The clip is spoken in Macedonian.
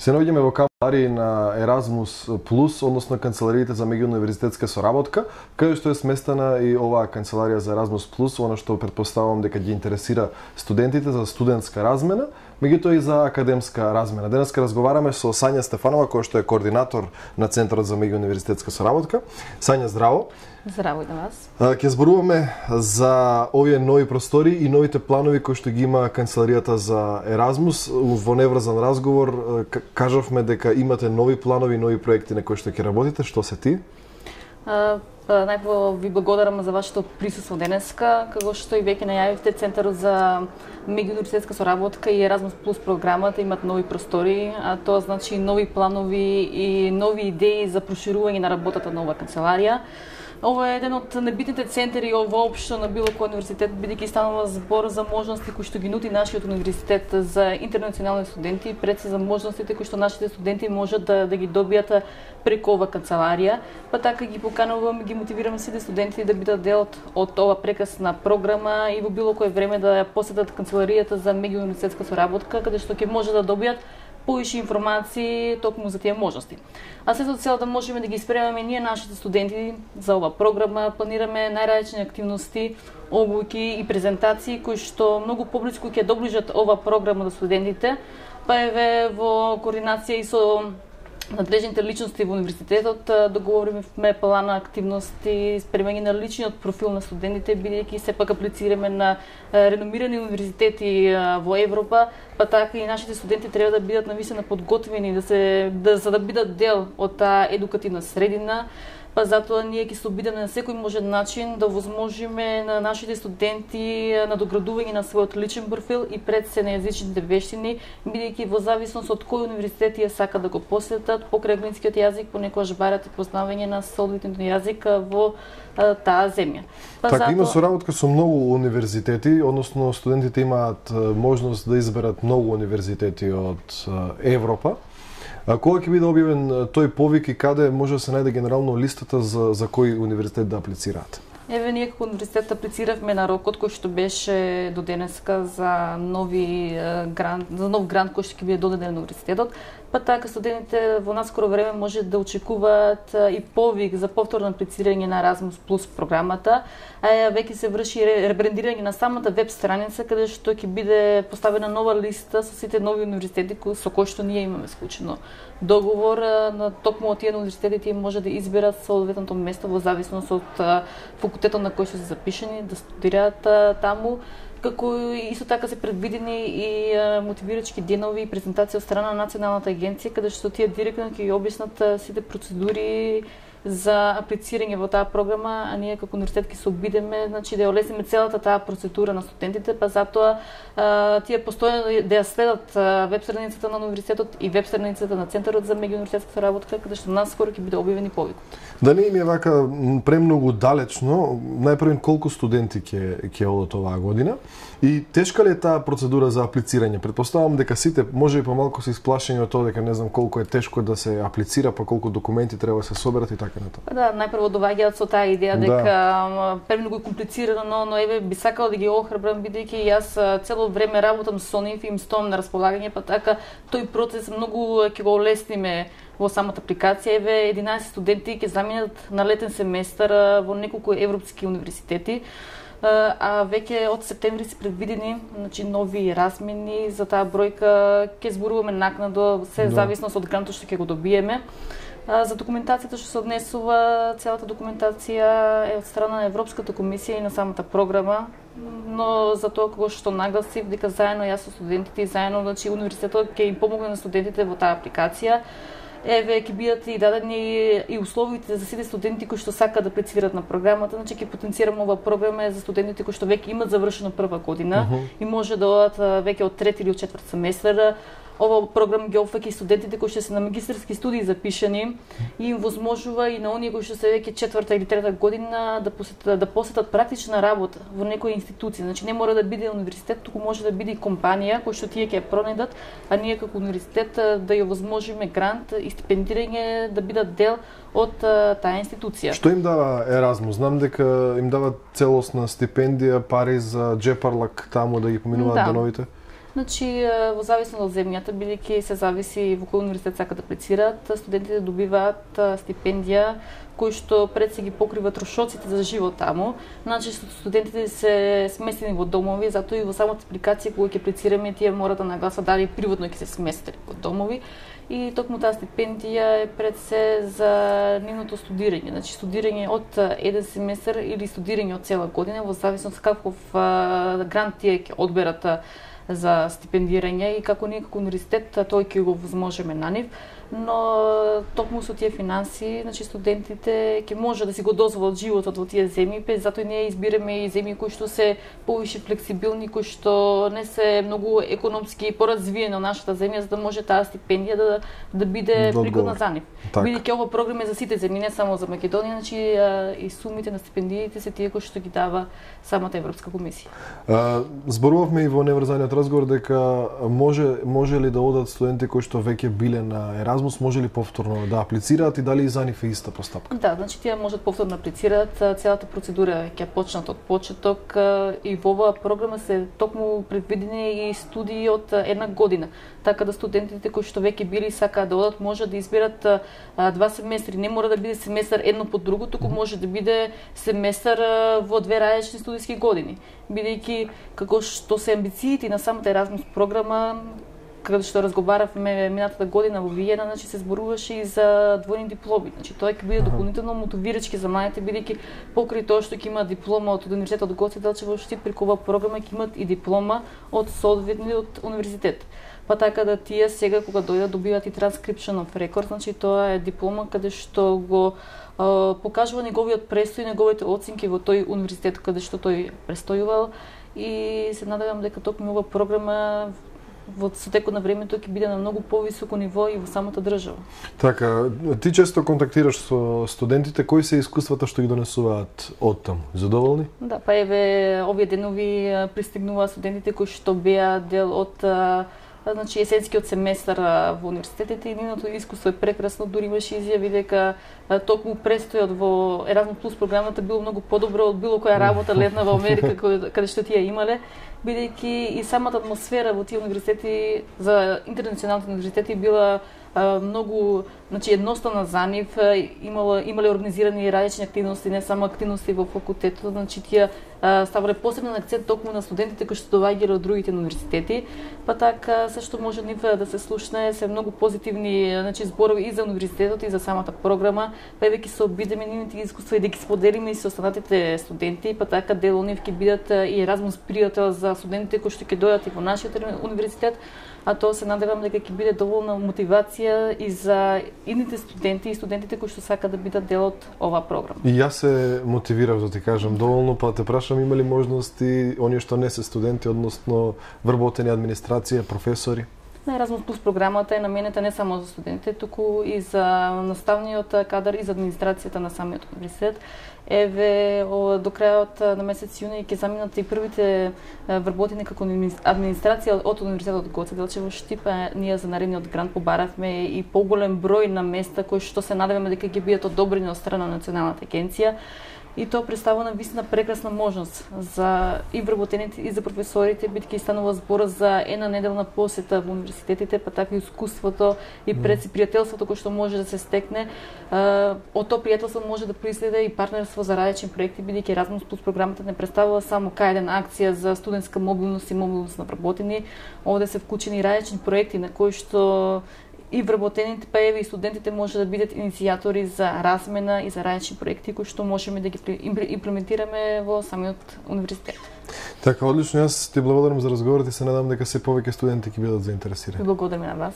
Се наоѓаме во канцеларија на Еразмус Плюс, односно канцелариите за меѓууниверзитетска соработка, каде што е сместена и оваа канцеларија за Еразмус Плюс, она што претпоставувам дека ги интересира студентите за студентска размена, меѓутоа и за академска размена. Денеска разговараме со Сања Стефанова, која што е координатор на Центарот за меѓууниверзитетска соработка. Сања, здраво. Здраво и на вас. Ќе зборуваме за овие нови простори и новите планови кои што ги има канцеларијата за Еразмус. Во неврзан разговор кажавме дека имате нови планови, нови проекти на кои што ќе работите. Што се ти? Најпрво ви благодарам за вашето присуство денеска, како што и веќе најавивте, Центарот за меѓууниверзитетска соработка и Еразмус Плюс програмата имат нови простори, а тоа значи нови планови и нови идеи за проширување на работата на оваа канцеларија. Ова е еден од небитните центари воопшто на било кој универзитет, бидејќи станува збор за можности кои што ги нуди нашиот универзитет за интернационални студенти, пред се за можностите кои што нашите студенти можат да ги добијат преку ова канцеларија. Па така ги поканувам и ги мотивирам сите студенти да бидат дел од ова прекрасна програма и во било кое време да ја посетат канцеларијата за меѓууниверзитетска соработка, каде што ќе може да добијат повише информации токму за тие можности. А се со цел да можеме да ги испремаме ние нашите студенти за ова програма, планираме најразлични активности, обуки и презентации кои што многу поблиску ќе доближат ова програма до студентите. Па еве во координација и со надлежните личности во универзитетот договориме план на активности, спремање на личниот профил на студентите, бидејќи сепак аплицираме на реномирани универзитети во Европа, па така и нашите студенти треба да бидат навистина подготвени за да бидат дел од таа едукативна средина. Па затоа ние ќе се обидеме на секој можен начин да возможиме на нашите студенти надоградување на својот личен профил и пред се на јазичните вештини, бидејќи во зависност од кој универзитет ја сака да го посетат, покрај англискиот јазик понекогаш барате познавање на соодветниот јазик во таа земја. Па така, има соработка со многу универзитети, односно студентите имаат можност да изберат многу универзитети од Европа. А кога ќе биде објавен тој повик и каде може да се најде генерално листата за кој универзитет да аплицираат? Еве, ние како универзитет аплициравме на рокот кој што беше до денеска за нов грант кој што ќе биде додаден на универзитетот. Па така студентите во наскоро време може да очекуваат и повик за повторно аплицирање на Еразмус Плюс програмата, а веќе се врши ребрендирање на самата веб страница каде што ќе биде поставена нова листа со сите нови универзитети со кои што ние имаме склучено договор. На токму од тие универзитети тие може да изберат соодветното место во зависност од факултетот на кој што се запишани да студираат таму. Како исто така се предвидени и мотивирачки денови и презентации од страна на Националната агенција, каде што тие директно ќе ги објаснат сите процедури за аплицирање во таа програма, а ние како универзитет ќе се обидеме, значи да ја олесниме целата таа процедура на студентите, па затоа тие постојано да ја следат веб страницата на универзитетот и веб страницата на Центарот за меѓууниверзитетска соработка, каде што наскоро ќе биде објавен и повикот. Да не им е вака премногу далечно, најпрвен колку студенти ќе одат оваа година и тешка ли е таа процедура за аплицирање? Претпоставам дека сите може и помалку се исплашени од тоа дека не знам колку е тешко да се аплицира, па колку документи треба да се соберат и така натаму. Да, најпрво доаѓаат со таа идеја дека премногу комплицирано, но еве би сакала да ги охрабрам бидејќи јас цело време работам со нив и им стоам на располагање, па така тој процес многу ќе го олесниме во самата апликација. Еве 11 студенти ќе заминат на летен семестар во неколку европски универзитети. А веќе од септември се предвидени нови размени за таа бројка. Ќе зборуваме накнадо, се зависност од грантот што ќе го добиеме. За документацијата што се однесува, целата документација е од страна на Европската комисија и на самата програма, но за тоа кога што нагласив дека заедно јас со студентите и заедно универзитетот ќе им помогне на студентите во таа апликација. Еве ќе бидат и дадени и условите за сите студенти кои што сакаат да аплицираат на програмата, значи ќе потенцираме оваа програма за студентите кои што веќе имат завршено прва година и може да одат веќе од трети или од четврт семестар. Ова програма ги опфаќа и студентите кои што се на магистарски студии запишани и им возможува и на оние кои што се веќе четврта или трета година да посетат практична работа во некоја институција. Значи не мора да биде универзитет, туку може да биде и компанија кој што тие ќе пронедат, а ние како универзитет да ја возможиме грант и стипендирање да бидат дел од таа институција. Што им дава Еразмус? Знам дека им дава целосна стипендија, пари за джепарлак таму да ги поминуваат деновите. Значи, во зависност од земјата, бидејќи се зависи во кој универзитет сакаат да аплицираат, студентите добиваат стипендија кои што пред се ги покрива трошоците за живот таму. Значи, студентите се сместени во домови, затоа и во самата апликација кога ќе аплицираме, тие мора да нагласат дали приватно ќе се сместени во домови. И токму таа стипендија е пред се за нивното студирање. Значи, студирање од еден семестар или студирање од цела година, во зависност каков грант тие ќе одберат за стипендирање и како ние како универзитет тој ќе го возможеме на нив, но токму со тие финанси, значи студентите ќе може да си го дозволат животот во тие земји, затоа ние избираме и земји кои што се повише флексибилни, кои што не се многу економски поразвиени од нашата земја, за да може таа стипендија да биде пригодна за нив. Бидејќи ова програма е за сите земји, не само за Македонија, значи и сумите на стипендиите се тие кои што ги дава самата Европска комисија. Зборувавме и во неврзаниот разговор дека може ли да одат студенти кои што веќе биле на Еразмус, може ли повторно да аплицираат и дали и за нив е иста постапка? Да, значи тие можат повторно да аплицираат, целата процедура ќе почнат од почеток и во оваа програма се токму предвидени и студии од една година, така да студентите кои што веќе били сакаат да одат може да изберат два семестри, не мора да биде семестар едно по друго, туку може да биде семестар во две различни студиски години, бидејќи како што се амбициите на самата Еразмус програма, кога што разговаравме минатата година во Виена, значи се зборуваше и за двојни дипломи. Значи тоа ќе биде дополнително мотивирачки за младите, бидејќи покрај тоа што ќе има диплома од универзитетот Гоце Делчев, Штип, преку оваа програма ќе имат и диплома од соодветниот универзитет. Па така да тие сега кога дојдат добиваат и транскрипшн оф рекорд, значи тоа е диплома каде што го покажува неговиот престој, неговите оценки во тој универзитет каде што тој престојувал, и се надевам дека токму оваа програма во текот на времето ќе биде на многу повисоко ниво и во самата држава. Така, ти често контактираш со студентите, кои се искуствата што ги донесуваат од таму? Задоволни? Да, па еве овие денови пристигнува студентите кои што беа дел од значи есенскиот семестар во универзитетите и нивното искуство е прекрасно, дури имаше изјави дека токму престојот во Еразмус плюс програмата било многу подобро од било која работа летна во Америка каде што тие имале, бидејќи и самата атмосфера во тие универзитети за интернационалните универзитети била многу, значи едноставна за нив, имале организирани различни активности, не само активности во факултетот, значи тие ставале посебен акцент токму на студентите кои што доаѓале од другите универзитети, па така се што може нив да се слушне се многу позитивни, значи зборови и за универзитетот и за самата програма, па еве ќе се обидеме нивните искуства и да ги споделиме и со останатите студенти, па така дел од нив ќе бидат и Еразмус пријател за студентите кои што ќе дојдат и во нашиот универзитет, а тоа се надевам дека ќе биде доволна мотивација и за идните студенти и студентите кои што сакаат да бидат дел од оваа програма. И јас се мотивирав да ти кажам доволно, па те прашам има ли можности оние што не се студенти, односно вработени администрација, професори? На Еразмус плюс програмата е наменета не само за студентите, туку и за наставниот кадар и за администрацијата на самиот универзитет. Еве до крајот на месец јуни ќе заминат и првите вработени како администрација од универзитетот Гоце Делчев во Штип. Ние за наредниот грант побаравме и поголем број на места кои што се надеваме дека ќе бидат одобрени од страна на Националната агенција. И тоа представува навистина прекрасна можност за и вработените и за професорите, бидејќи станува збор за една неделна посета во универзитетите, па така и искуството и пријателството кој што може да се стекне. Од тоа пријателство може да произлезе и партнерство за различни проекти, бидејќи Еразмус плюс програмата не представува само една акција за студентска мобилност и мобилност на вработени. Овде се вклучени различни проекти на кои што и вработените, па еве и студентите може да бидат иницијатори за размена и за различни проекти кои што можеме да ги имплементираме во самиот универзитет. Така, одлично, јас ти благодарам за разговорот и се надам дека се повеќе студенти ќе бидат заинтересирани. Благодарам на вас.